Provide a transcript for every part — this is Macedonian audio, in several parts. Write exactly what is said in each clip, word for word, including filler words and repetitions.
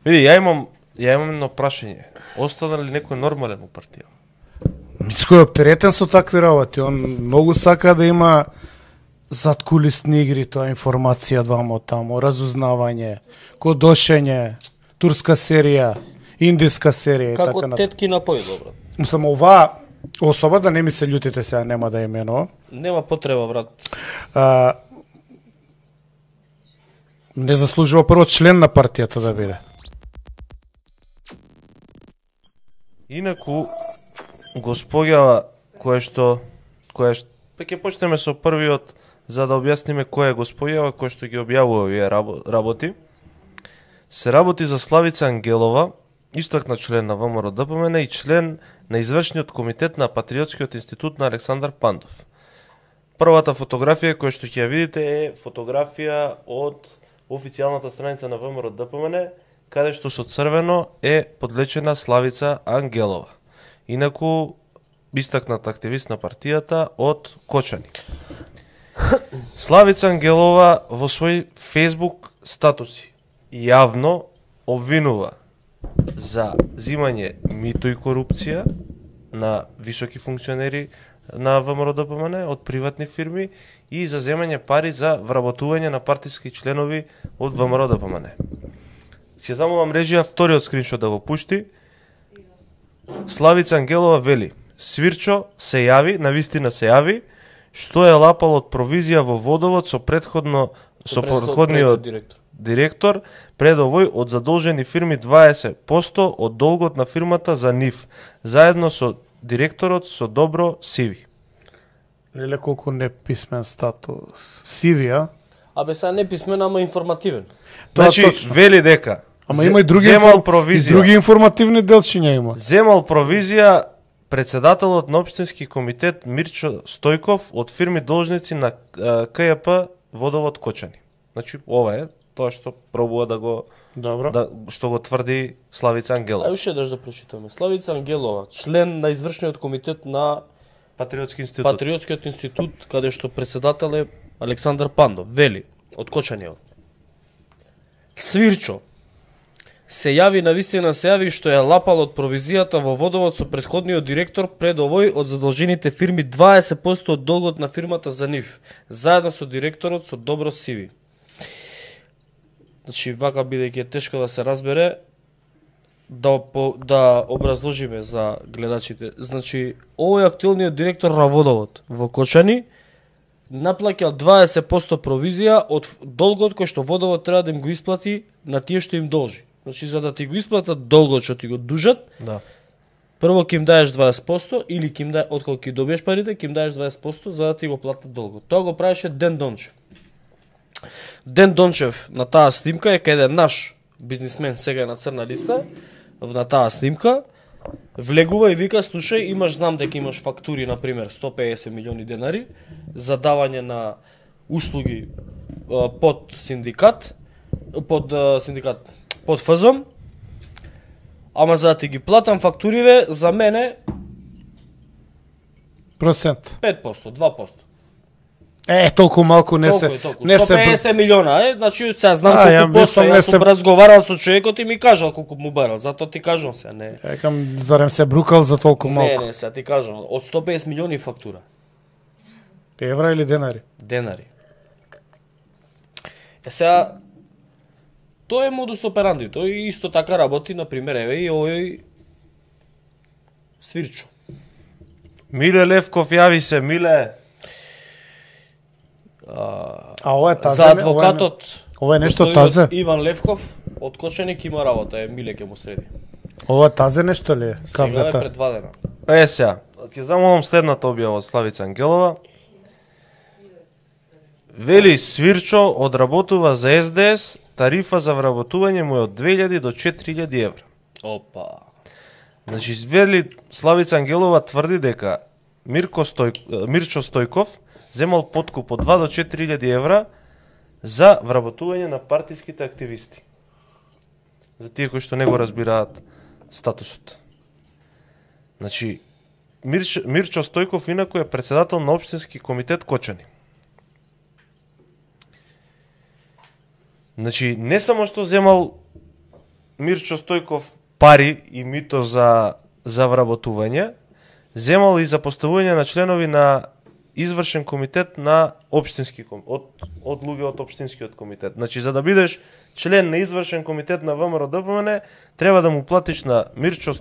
Види, ја имам, ја имам едно прашање. Остана ли некој нормален у партија? Мицко е оптеретен со такви работи. Он многу сака да има заткулисни игри, тоа информација двамо тамо, разузнавање, кодошење, турска серија, индиска серија и така Како натаму. тетки на појдо, брат. Мислам, оваа особа, да не ми се љутите сега, нема да именувам, Нема потреба, брат. а, не заслужува прво член на партијата да биде. Инаку, госпоѓава која што, која што, па ќе почнеме со првиот, за да објасниме која е госпоѓава која што ги објавува овие работи. Се работи за Славица Ангелова, истакна член на ВМРО-ДПМН и член на извршниот комитет на Патриотскиот институт на Александар Пандов. Првата фотографија која што ќе ја видите е фотографија од официјалната страница на ВМРО-ДПМН, каде што со црвено е подлечена Славица Ангелова. Инаку, истакната активист на партијата од Кочани. Славица Ангелова во свој Facebook статуси јавно обвинува за зимање мито и корупција на високи функционери на ВМРО-ДПМН од приватни фирми и за земање пари за вработување на партиски членови од ВМРО-ДПМН. Ќе замолам режија вториот скриншот да го пушти. Славица Ангелова вели: Свирчо се јави, навистина се јави, што е лапал од провизија во водовод со предходно со предходниот директор. директор, пред овој од задолжени фирми дваесет проценти од долгот на фирмата за НИФ, заедно со директорот со добро сиви. Леле колку неписмен статус. Сивија. Абе, сега не писмен, ама информативен. Тоа Значи, точно. вели дека Ама има и други, земал инфор... и провизија. други информативни делчиња има. Земал провизија председателот на општински комитет Мирчо Стојков од фирми должници на КЈП Водовод Кочани. Значи, ова е тоа што пробува да го Добро. да што го тврди Славица Ангелова. Ај уште еднаш да прочитаме. Славица Ангелова, член на извршниот комитет на Патриотски институт. Патриотскиот институт, каде што председател е Александар Пандов, вели, од Кочаниот. Свирчо се јави, навистина се јави што е лапал од провизијата во водовод со претходниот директор пред овој од задолжените фирми дваесет проценти од долгот на фирмата за НИФ, заедно со директорот со добро сиви. Значи, вака бидејќи е тешко да се разбере, да, по, да образложиме за гледачите. Значи, овој актуелниот директор на водовод во Кочани наплаќал дваесет проценти провизија од долгот кој што водовод треба да им го исплати на тие што им должи. Значи, за да ти го исплатат долгот што ти го дужат, Да. прво ќе им даеш дваесет проценти или ќе им даеш, отколку ќе добиеш парите, ќе им даеш дваесет проценти за да ти го платат долгот. Тоа го правеше Ден Дончев. Ден Дончев на таа снимка е каде наш бизнисмен, сега е на црна листа, на таа снимка, влегува и вика: слушај, имаш, знам дека имаш фактури, на пример, сто педесет милиони денари за давање на услуги а, под синдикат, под а, синдикат, под ФЗОМ, ама за да ти ги платам фактуриве, за мене Процент. пет проценти, два проценти. Е, толку малку не Толку се е, толку. не сто се педесет милиона, е, значи сега знам А, ја колку посто, мислам, не јас се- сум разговарал со човекот и ми кажал колку му барал, затоа ти кажам сега, не. Екам, зарем се брукал за толку Не, малку. не, сега ти кажам, од сто педесет милиони фактура, Евра или денари? денари. Е сега, тоа е модус операнди, тој исто така работи, на пример, еве и овој Свирчо. Миле Левков, јави се, Миле. А, А ова е тазе. за не? адвокатот Ова е нешто господинот тазе? Иван Левков од Кочаник има работа, е Миле ќе му среди. Ова е тазе нешто ли е? Сега е Кавгата. предвадена. Е, сега, ќе замолам следната објава од Славица Ангелова. Вели Свирчо одработува за Ес Де Ес, тарифа за вработување му е од две илјади до четири илјади евра. Опа. Значи, вели Славица Ангелова тврди дека Мирко Стој... Мирчо Стојков земал подкуп од два до четири илјади евра за вработување на партиските активисти. За тие кои што не го разбираат статусот. Значи, Мирчо, Мирчо Стојков инаку е председател на општински комитет Кочани. Значи, не само што земал Мирчо Стојков пари и мито за за вработување, земал и за поставување на членови на извршен комитет на општински комитет, од, од луѓе од општинскиот комитет. Значи, за да бидеш член на извршен комитет на ВМРО Д П М Н, треба да му платиш на Мирчо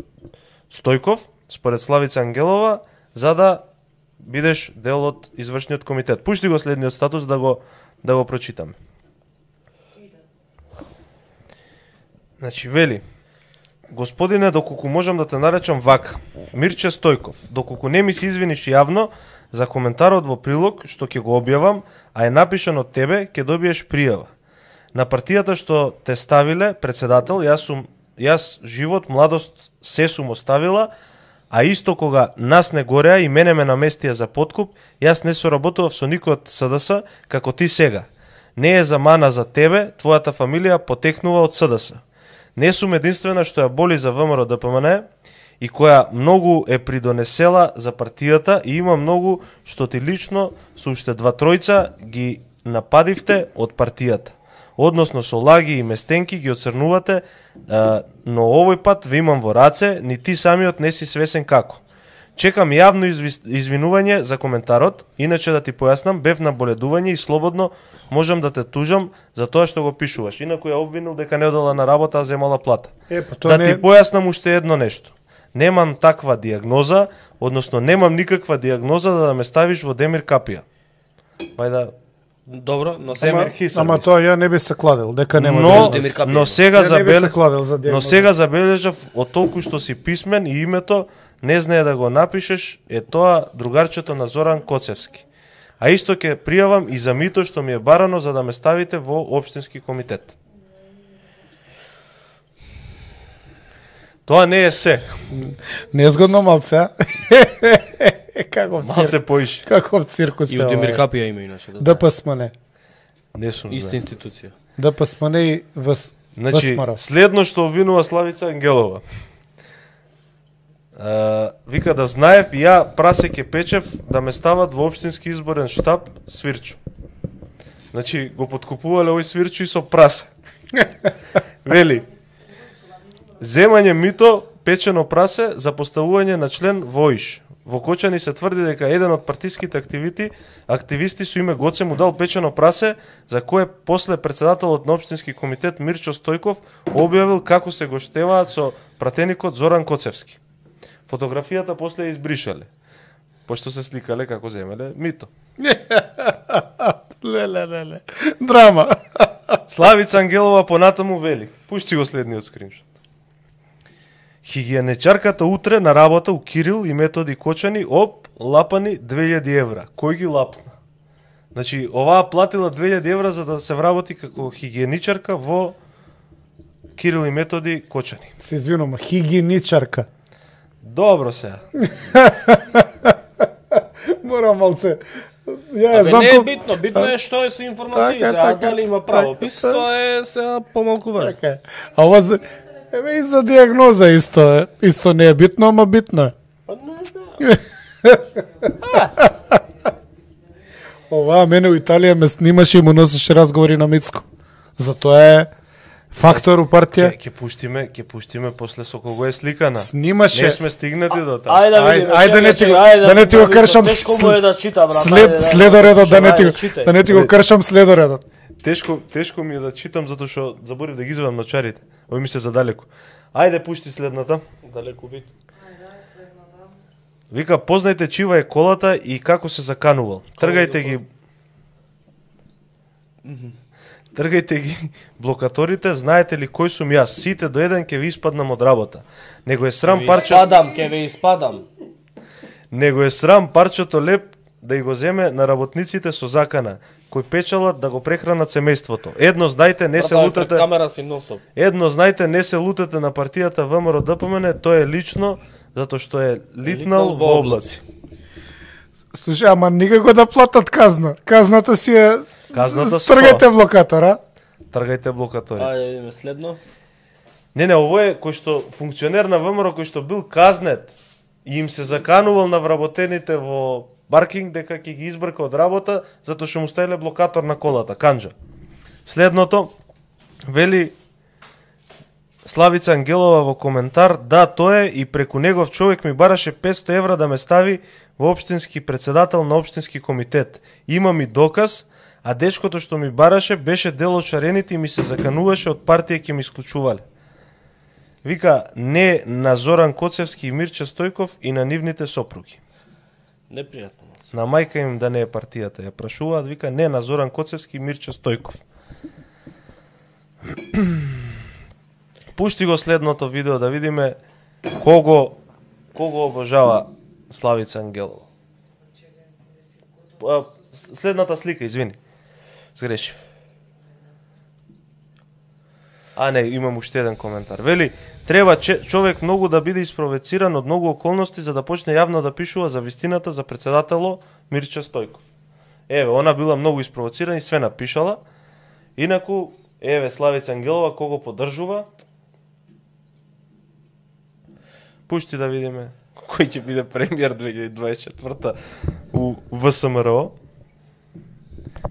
Стојков, според Славица Ангелова, за да бидеш дел од извршниот комитет. Пушти го следниот статус да го да го прочитаме. Значи, вели: Господине, доколку можам да те наречам вака, Мирче Стојков, доколку не ми се извиниш јавно за коментарот во прилог што ќе го објавам, а е напишан од тебе, ќе добиеш пријава. На партијата што те ставиле председател, јас сум јас живот, младост се сум оставила, а исто кога нас не гореа и мене ме наместија за подкуп, јас не соработував со никој од С Д С како ти сега. Не е за мана за тебе, твојата фамилија потекнува од С Д С. Не сум единствена што ја боли за ВМРО Д П М Н и која многу е придонесела за партијата и има многу што ти лично со уште два тројца ги нападивте од партијата. Односно со лаги и местенки ги оцрнувате, но овој пат ве имам во раце, ни ти самиот не си свесен како. Чекам јавно извинување за коментарот, иначе да ти појаснам, бев на боледување и слободно можам да те тужам за тоа што го пишуваш. Инаку ја обвинил дека не одела на работа, а земала плата. Е, да не... ти појаснам уште едно нешто. Немам таква диагноза, односно немам никаква диагноза да ме ставиш во Демир капија. Бајда Добро, но Демир Хисар. Ама тоа ја не би се кладел, дека нема но, Демир капија. но сега забел... за но сега забележав од толку што си писмен и името не знае да го напишеш, е тоа другарчето на Зоран Коцевски. А исто ќе пријавам и за мито што ми е барано за да ме ставите во општински комитет. Тоа не е се. Незгодно малце, Каков Малце цирк. поише. Каков циркус И е од Демир ова. капија има иначе да Д П С М Н. Не сум Иста знае. институција. Д П С М Н и Вс Значи, ВСМР. следно што обвинува Славица Ангелова. Uh, вика да знаев и ја прасе ке печев да ме стават во општински изборен штаб Свирчо. Значи го подкупувале овој Свирчо и со прасе. Вели: земање мито печено прасе за поставување на член во ИШ. Во Кочани се тврди дека еден од партиските активити, активисти со име Гоце му дал печено прасе, за кое после председателот на општински комитет Мирчо Стојков објавил како се го штеваат со пратеникот Зоран Коцевски. Фотографијата после ја избришале, пошто се сликале како земеле мито. Леле, леле. Драма. Славица Ангелова понатаму вели: пушти го следниот скриншот. Хигиенечарката утре на работа у Кирил и Методи Кочани оп лапани две илјади евра. Кој ги лапна? Значи, оваа платила две илјади евра за да се вработи како хигиеничарка во Кирил и Методи Кочани. Се извинувам, хигиеничарка. Добро сега. Морам малце. Ја Абе, знам не е кол- битно, битно е што е со информациите, Така, а така, дали има така, правопис, така. тоа е сега помалку важно. Така е. А ова за... Еве и за диагноза исто е. Исто не е битно, ама битно е. Па не, да. Ова мене у Италија ме снимаше и му носеше разговори на Мицко. Затоа е фактор у партија. Ќе ќе пуштиме, ќе пуштиме после со кого е сликана. Снимаше. Не сме стигнати до таа. Ајде да Ајде, видиме. ајде, чекај, не ти го- чекај, ајде да не ти го видиме, кршам Тешко с- му е да чита, брат. След ајде, следоредот да не ти ајде, го читај. да не ти го кршам следоредот. Тешко, тешко ми е да читам затоа што заборив да ги извадам ночарите. Ови ми се задалеку. Ајде пушти следната. Далеку вид. Вика: познајте чива е колата и како се заканувал. Тргајте ги. Тргајте ги блокаторите, знаете ли кој сум јас? Сите до еден ќе ви испаднам од работа. Него е срам парче, Испадам, ке ве испадам. него е срам парчето леп да и го земе на работниците со закана, кои печалат да го прехранат семејството. Едно знајте, не се Брат, лутете. пред камера си нонстоп. Едно знајте, не се лутете на партијата ВМРО Д П М Н, тоа е лично, затоа што е литнал во облаци. Слушај, ама никако да платат казна. Казната си е... Казната сто. Тргајте блокатора. Тргајте блокатори. Ајде да видиме следно. Не, не, ово е кој што функционер на ВМРО кој што бил казнет и им се заканувал на вработените во паркинг дека ќе ги избрка од работа затоа што му ставиле блокатор на колата, канџа. Следното вели Славица Ангелова во коментар, да, тоа е, и преку негов човек ми бараше петсто евра да ме стави во општински председател на општински комитет. Имам и доказ, а дечкото што ми бараше беше дел од шарените и ми се закануваше од партија ќе ми исклучувале. Вика, не на Зоран Коцевски и Мирча Стојков и на нивните сопруги. Непријатно. На мајка им да не е партијата. Ја прашуваат, вика, не на Зоран Коцевски и Мирча Стојков. Пушти го следното видео да видиме кого кого обожава Славица Ангелова. Следната слика, извини. Сгрешив. А не, имам уште еден коментар. Вели, треба човек многу да биде испровоциран од многу околности за да почне јавно да пишува за вистината за председатело Мирча Стојков. Еве, она била многу испровоцирана и све напишала. Инаку, еве Славица Ангелова кого поддржува. Пушти да видиме кој ќе биде премиер две илјади дваесет и четврта у ВСМРО.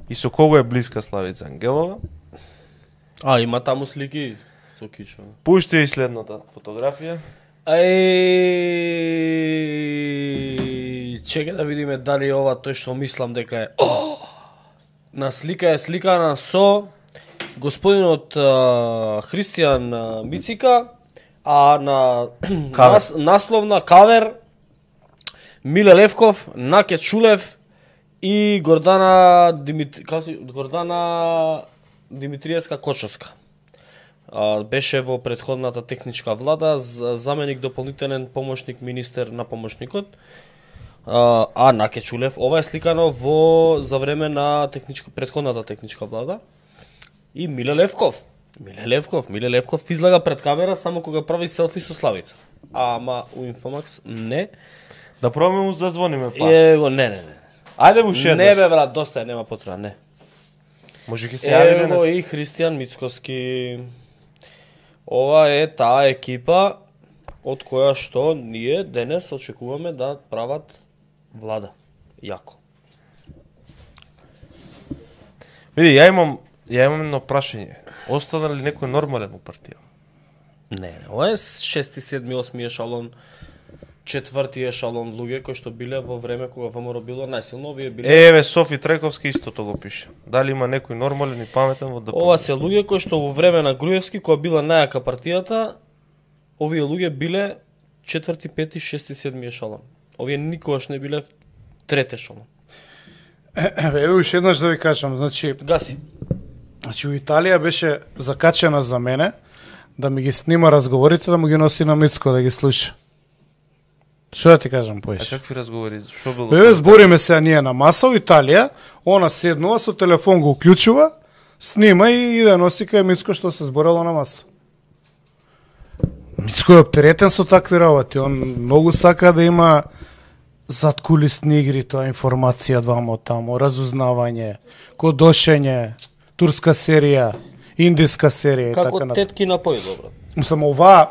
И со кого е блиска Славица Ангелова. А, има таму слики со кичо. Пушти и следната фотографија. Ај, чекај да видиме дали ова тој што мислам дека е. О! На слика е сликана со господинот а, Христијан а, Мицика, а на нас, насловна кавер Миле Левков, Наке Чулев и Гордана Димит... Гордана Димитриевска Кочевска. А, беше во претходната техничка влада заменик дополнителен помошник министер на помошникот. А, а Наке Чулев, ова е сликано во за време на техничка претходната техничка влада. И Миле Левков. Миле Левков, Миле Левков излага пред камера само кога прави селфи со Славица. Ама у Инфомакс не. Да пробаме му зазвониме па. Е, го не, не, не. Ајде му шеднеш. Не бе брат, доста е, нема потреба, не. Може ќе се јави денес. Ево и Христијан Мицкоски. Ова е таа екипа од која што ние денес очекуваме да прават влада. Јако. Види, ја имам, ја имам едно прашање. Остана ли некој нормален у партија? Не, не, ова е шести, седми, осми ешалон, четврти ешалон луѓе кои што биле во време кога ВМРО било најсилно, овие биле. Еве Софи Трековски истото го пише. Дали има некој нормален и паметен во ДПМН? Ова се луѓе кои што во време на Груевски, кога била најака партијата, овие луѓе биле четврти, пети, шести, седми ешалон. Овие никогаш не биле трети ешалон. Еве уште еднаш да ви кажам, значи, Гаси. Значи, у Италија беше закачена за мене да ми ги снима разговорите, да му ги носи на Мицко да ги слуша. Што да ти кажам А поиш? какви разговори? Што било? Еве збориме се ние на маса у Италија, она седнува со телефон го уклучува, снима и иде носи кај Мицко што се зборело на маса. Мицко е оптеретен со такви работи, он многу сака да има заткулисни игри, тоа информација двамо таму, разузнавање, кодошење, турска серија, индиска серија и Како така натаму. тетки на појдо, брат. Само оваа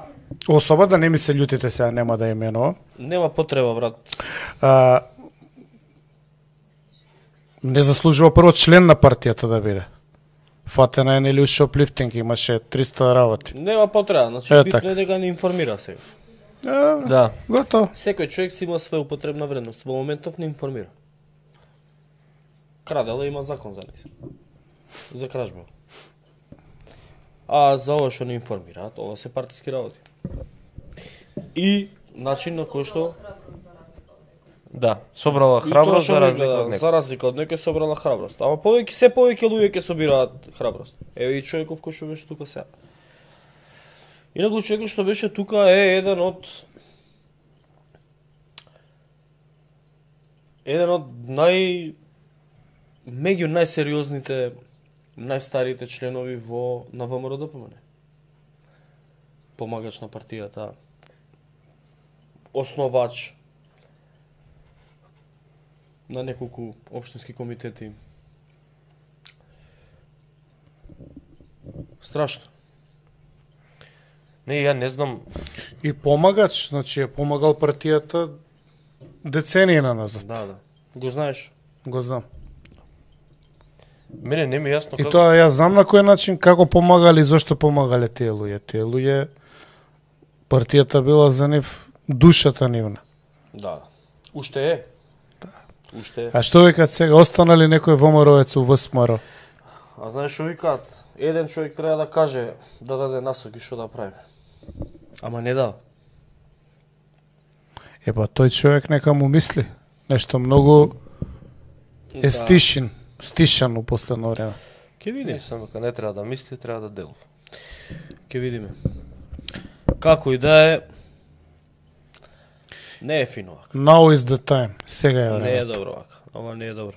особа, да не ми се љутите сега, нема да именувам. Нема потреба, брат. А, не заслужува прво член на партијата да биде. Фатена е нели у шоплифтинг, имаше триста работи. Нема потреба, значи Е, битно така. е дека не информира сега. Е, Да. готово. Секој човек си има своја употребна вредност, во моментов не информира. Крадела има закон за неј. За кражба. А за ова што не информираат, ова се партиски работи. И начин на кој што Да, собрала и храброст тоа што за не разлика гледа, од некој. за разлика од некој собрала храброст. Ама повеќе се повеќе луѓе ќе собираат храброст. Еве и човеков кој што беше тука сега. Инаку човекот што беше тука е еден од еден од нај меѓу најсериозните, најстарите членови во на ВМРО-ДПМН. Помагач на партијата, основач на неколку општински комитети. Страшно. Не, ја не знам. И помагач, значи е помагал партијата децении на назад. Да, да. Го знаеш? Го знам. Мене не ми е јасно И како. тоа ја знам на кој начин, како помагали и зошто помагале тие луѓе. Тие луѓе Партијата била за нив душата нивна. Да. Уште е. Да. Уште е. А што викат сега, останали некој ВМРО-ец у ВСМР? А знаеш што викаат? Еден човек треба да каже, да даде насоки што да прави. Ама не дава. Епа, тој човек нека му мисли. Нешто многу е стишен, стишан у последно време. Ке видиме. Мислам дека не треба да мисли, треба да делува. Ке видиме. Како и да е, не е фино вака. Now is the time. Сега е време. Не е добро вака. Ова не е добро.